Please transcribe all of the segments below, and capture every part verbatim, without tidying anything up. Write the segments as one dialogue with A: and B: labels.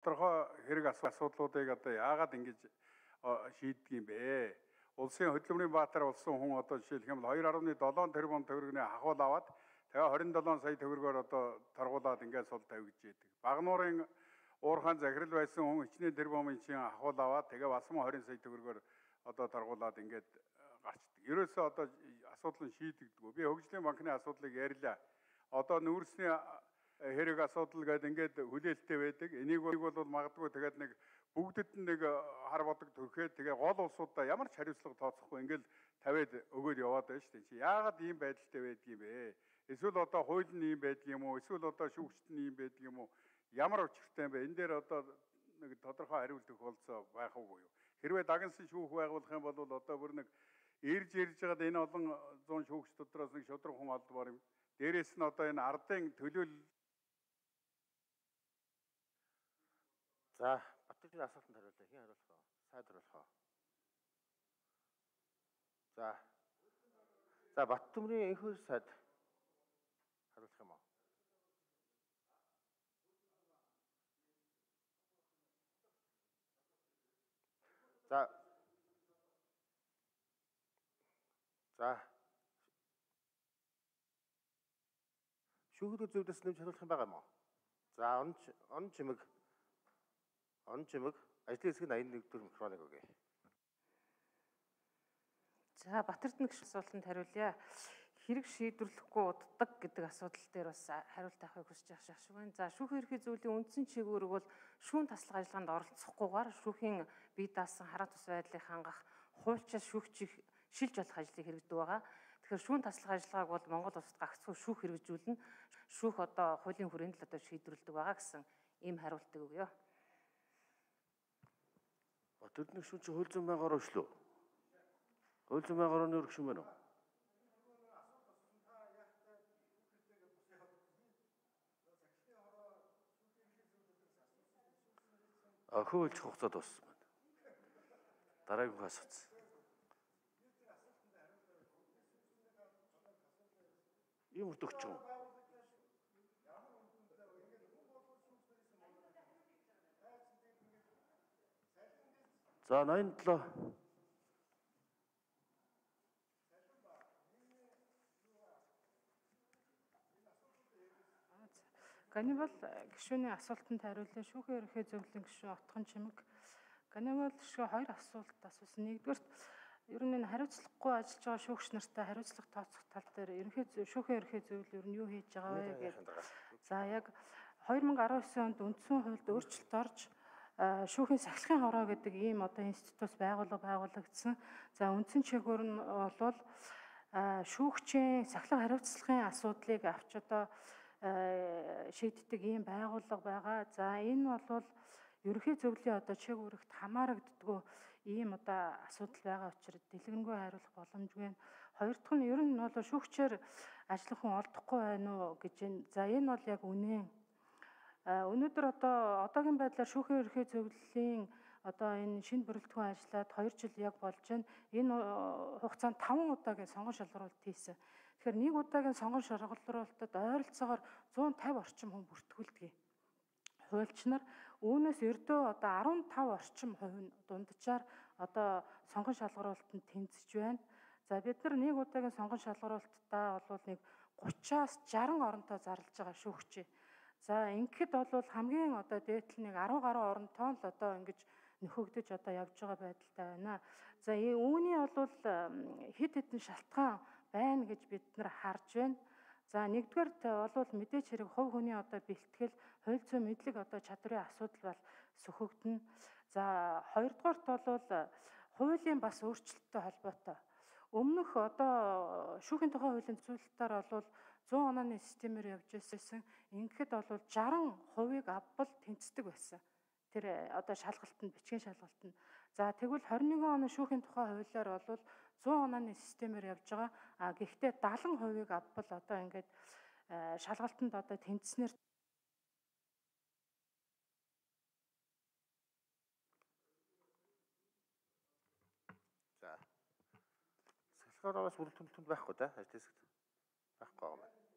A: тодорхой хэрэг асуудлуудыг одоо яагаад ингэж шийддэг юм бэ? Улсын хөдөлмөрийн баатар болсон хүн одоо жишээлх юм бол two point seven тэрбум төгрөгийн ахуул аваад тэгээ twenty-seven сая төгрөгөөр одоо торгуулаад ингээд сул тавьж яадаг. Багнуурын уурхаан захирал байсан хүн хичнээн тэрбумын чин ахуул аваад тэгээ бас twenty сая төгрөгөөр одоо торгуулаад ингээд гарчдаг. Ерөөсөө одоо асуудал нь шийдэгдэггүй. Би хөгжлийн банкны асуудлыг ярьлаа. Одоо нүүрсний хэрэг асуудал гэдэг ингээд хүлээлттэй байдаг. Энийг бол магадгүй тэгээд нэг бүгдэд нэг хар бодог төрхөөд тэгээ гол улсуудаа ямар ч хариуцлага тооцохгүй ингээд тавиад өгөөд яваад байна шүү дээ. Чи яагаад ийм байдалтай байдаг юм бэ? Эсвэл одоо хууль нь ийм байдаг юм уу? Эсвэл одоо шүүгчт нь ийм байдаг юм уу? Ямар учиртай юм бэ? Энэ дээр одоо нэг тодорхой хариулт өгөх болцоо байх уу юу? Хэрвээ дагнсан шүүх байгуулах юм бол одоо бүр нэг ирж ирж байгаад энэ олон зуун шүүгч дотроос нэг шудраг хүн алдмаар юм. Дээрээс нь одоо энэ ардын төлөөлөл.
B: За, Батөрчгийн асуултанд хариулъя. Хэн хариулах вэ? Сайд хариулах уу? За. За, Баттөмрийн энхүү сайд хариулах юм уу? За. За. Шүүхүүд зөвлөс нэмж хариулах юм байгаа юм уу? За, он он чимэг он чимэг ажлын хэсэг нь eighty-one дэх микрофоныг өгье.
C: За, Батэрдэн гэх асуултанд хариулъя. Хэрэг шийдвэрлэхгүй уддаг гэдэг асуудал дээр бас хариулт авахыг хүсэж байгаа шиг байна. За, шүүх ерхий зүйлийн үндсэн чиглэлүүд бол шүүн таслах ажиллагаанд оролцохгүйгээр шүүхийн бие даасан хараа тус байдлыг хангах хуульчаас шүүгчийг шилж болох ажлыг хэрэгждэг байгаа. Тэгэхээр шүүн таслах ажиллагааг бол Монгол улсад гагцхүү шүүх хэрэгжүүлнэ. Шүүх одоо хуулийн хүрээнд л одоо шийдвэрлэдэг байгаа гэсэн ийм хариултыг өгье.
B: Батэрдэн шүүн чи хууль зүйн байгаар өшлөө. Хууль зүйн байгаар нь өргөш юм байна уу? А хууль хугацаа дууссан байна. Дараагийн асууц. Ийм үрдөгч юм. За, ninety-seven.
C: Ганибал гишүүний асуултанд хариулъя. Шүүхийн ерөнхий зөвлөлийн гишүүн Отхон чимэг. Ганибал гишүү хоёр асуулт асуусан. Нэгдүгээрт ер нь энэ хариуцлагагүй ажиллаж байгаа шүүгч нартай хариуцлага тооцох тал дээр ерөнхий шүүхийн ерөнхий зөвлөл ер нь юу хийж байгаа вэ гэдэг. За, яг twenty nineteen онд үндсэн хуульд өөрчлөлт орж шүүхийн сахилгын хороо гэдэг ийм одоо институтс байгуулга байгуулагдсан. За, үндсэн чиглэлээр нь бол шүүгчийн сахилга хариуцлагын асуудлыг авч одоо шийддэг ийм байгууллага байгаа. За, энэ бол ерөнхий зөвлөлийн одоо чиг үүрэгт хамаарагддаггүй ийм одоо асуудал байгаа учраас дэлгэрэнгүй хариулах боломжгүй. Хоёр дахь нь ер нь бол шүүгчээр ажиллах хүн олдохгүй байна уу гэж байна. За, энэ бол яг үнэн. Өнөөдөр одоо одоогийн байдлаар шүүхийн ерөнхий зөвлөлийн одоо энэ шинэ бүрэлдэхүүн ажиллаад two жил яг болж байна. Энэ хугацаанд five удаагийн сонгон шалгаруулалт хийсэн. Тэгэхээр нэг удаагийн сонгон шалгаруулалтад ойролцоогоор one fifty орчим хүн бүртгүүлдэг. Хуульч нар үүнээс ердөө одоо fifteen орчим хувь нь дунджаар одоо сонгон шалгаруулалтанд тэнцэж байна. За, бид нар нэг удаагийн сонгон шалгаруулалтаа бол нэг thirty-аас sixty оронтой зарлаж байгаа шүүгчээ. За, ингэхэд бол хамгийн одоо дээдл нэг ten гаруй оронтой л одоо ингэж нөхөгдөж одоо явж байгаа байдалтай байна. За, үүний бол хэд хэдэн шалтгаан байна гэж бид нар харж байна. За, нэгдүгээрт бол мэдээж хэрэг хувь хүний одоо бэлтгэл, хууль зүйн мэдлэг одоо чадрын асуудал бол сөхөгдөнө. За, хоёрдугаарт бол хуулийн бас өөрчлөлттэй холбоотой. Өмнөх одоо шүүхийн тухай хуулийн зүйлтээр бол one hundred оны системээр явж байсан. Ингээд бол sixty хувийг авбал тэнцдэг байсан. Тэр одоо шалгалтанд, бичгийн шалгалтанд. За, тэгвэл twenty-one оны шүүхийн тухай хуулиар бол one hundred оны системээр явж байгаа. А гэхдээ seventy хувийг авбал одоо ингээд шалгалтанд одоо тэнцснээр
B: За. Сахилгын хороноос бүрэлдэхүүн байхгүй да? Ажил хэсэгт байхгүй байгаа юм.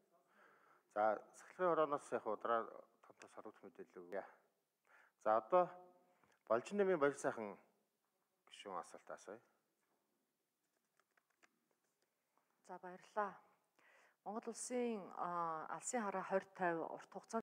B: За, сахилгын хороноос яг удаа томтос харагдах мэдээлэл өгье. За одоо Балжин нэмийн баяр сайхан гишүүн асуулт асууя.
D: За баярлалаа. Монгол улсын алсын хараа хорь тойв урт хугацаанд